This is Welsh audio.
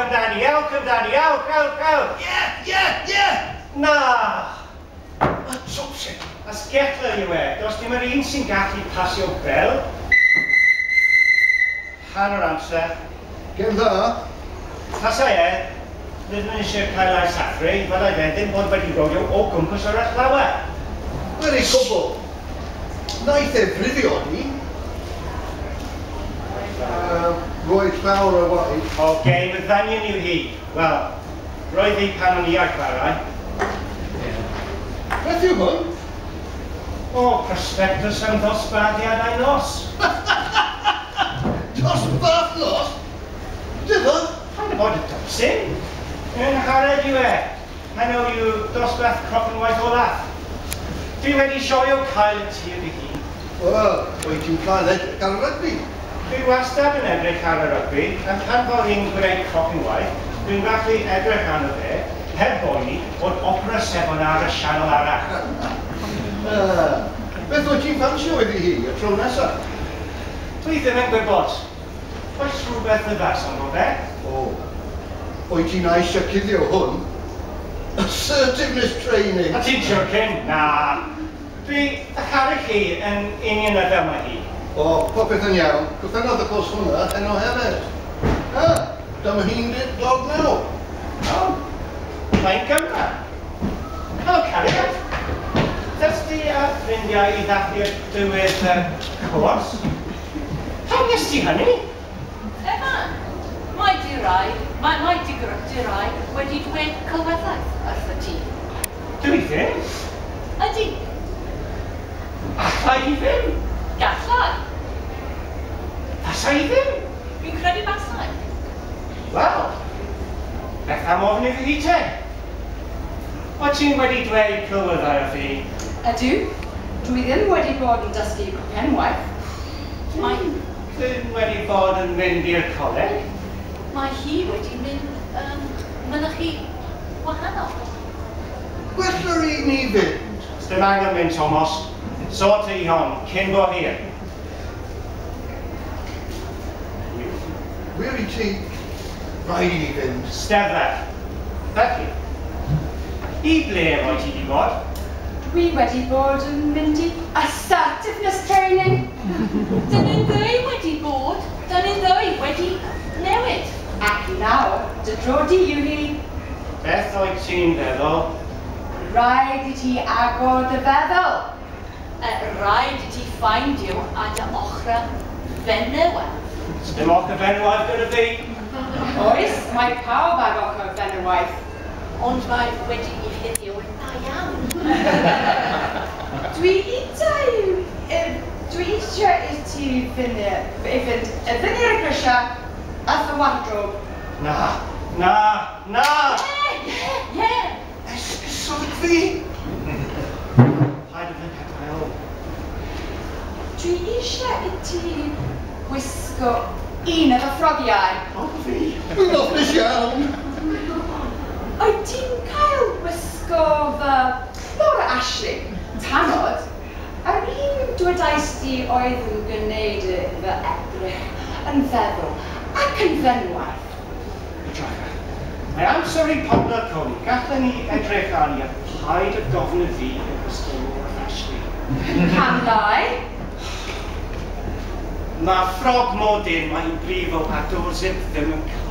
amdani, ewch amdani, ewch, ewch, ewch! Ie, ie, ie! Na! Y twpsyn! Asgellwr yw e, does dim yr un sy'n gallu pasio bel. Hanner amser. Gêm dda. Tasai e, ddim yn eisiau cael ei sathru, fyddai fe ddim bod wedi rolio o gwmpas yr athletau. Wedi cwbl. Naeth e frifio ni. Roedd llawer o waith. O, gêm y ddanion yw hi. Wel, roedd hi pan o'n i ar chwarae. Beth yw hwn? O, prospectus am ddosbarthiadau nos. Dosbarth nos? Dyma? Paid â bod yn dwpsyn. Yn harad yw e. Heno yw dosbarth crochenwaith olaf. Dwi wedi sioio cael y tir fy hun. Wel, wyt ti'n cael edrych ar y rygbi? Dwi wastad yn edrych ar y rygbi, a pan fod hi'n gwneud crochenwaith, dwi'n gallu edrych arno fe, heb boeni bod opera sebon ar y sianel arall. Beth wyt ti'n ffansio iddi hi y tro nesaf? Dwi ddim yn gwybod. Oes rhywbeth ddiflas ynddo fe? O, wyt ti'n eisiau cuddio hwn? Assertiveness training! A ti'n joking? Na. Dwi a charu chi yn union fel mae hi. O, popeth yn iawn. Gorffennodd y cwrs hwnna heno hefyd. Ah, dyma hi'n dod nawr. O, mae'n Gymra. Helo, cariad. Dys di a ffrindiau i ddathlu'r diwedd y cwrs? Pam nes ti hynny? Evan, mae dy rai, mae dy rai wedi dweud celwyddau wrtho ti. Dwi ddim. Ydy. Alla i ddim. Gallai. Fasa i ddim. Fi'n credu basai. Wel, beth am ofyn iddi hi te? O ti'n wedi dweud celwyddau wrth i? Ydw. Dwi ddim wedi bod yn dysgu crochenwaith. Mae ddim wedi bod yn mynd i'r coleg. Mae hi wedi mynd mynychu wahanol. Gwell yr un i fynd. Sdim angen mynd, Thomas. Sort i hon, cyn bo hir. Wir i ti, rhaid i ni fynd. Steddfod. Felly, i ble roedd ti wedi bod? Dwi wedi bod yn mynd i assertiveness training. Dyn ni'n ddwy wedi bod, dyn ni'n ddwy wedi newid. Ac nawr, dy dro di yw hi. Beth oedd ti'n feddwl? Rhaid i ti agor dy feddwl. Rhaid i ti ffaindio a dy ochr fenywaidd. Dim ochr fenywaidd gyda fi. Oes, mae pawb ag ochr fenywaidd. Ond mae wedi'i chuddio yn dda iawn. Dwi eisiau i ti fynd i fyny'r grisiau a fy wardrobe. Na, na, na! Ie, ie, ie! Esgusod fi! Paid â fy ngadael. Dwi eisiau i ti wisgo un o fy ffrogiau. O, fi! Dwi'n ofnus iawn! Wyt ti'n cael wisgo fy Laura Ashley, tanod, a'r un dwedais di oedd yn gwneud fy edrych yn feddwl ac yn fenywaidd. Edrycha, mae amser i pobl Coni, gallen ni edrych arni a paid â gofyn i fi yn wisgo Laura Ashley. Pam lai? Mae ffrog modyn, mae'n brifo a do'r zip ddim yn cael.